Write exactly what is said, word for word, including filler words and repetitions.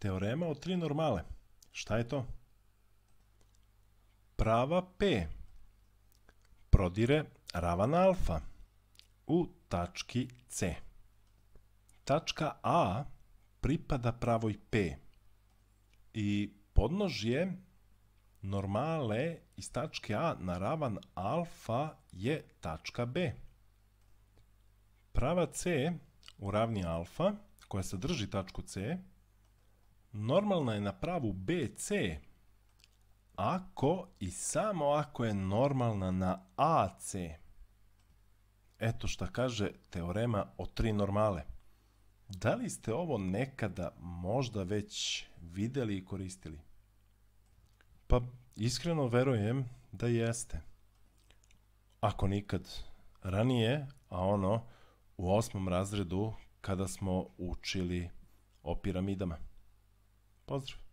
Teorema o tri normale. Šta je to? Prava P prodire ravan alfa u tački C. Tačka A pripada pravoj P i podnožje normale iz tačke A na ravan alfa je tačka B. Prava C u ravni alfa, koja sadrži tačku C, normalna je na pravu B C, ako i samo ako je normalna na A C. Eto šta kaže teorema o tri normale. Da li ste ovo nekada možda već videli i koristili? Pa iskreno verujem da jeste. Ako nikad ranije, a ono u osmom razredu kada smo učili o piramidama. Pozdrav!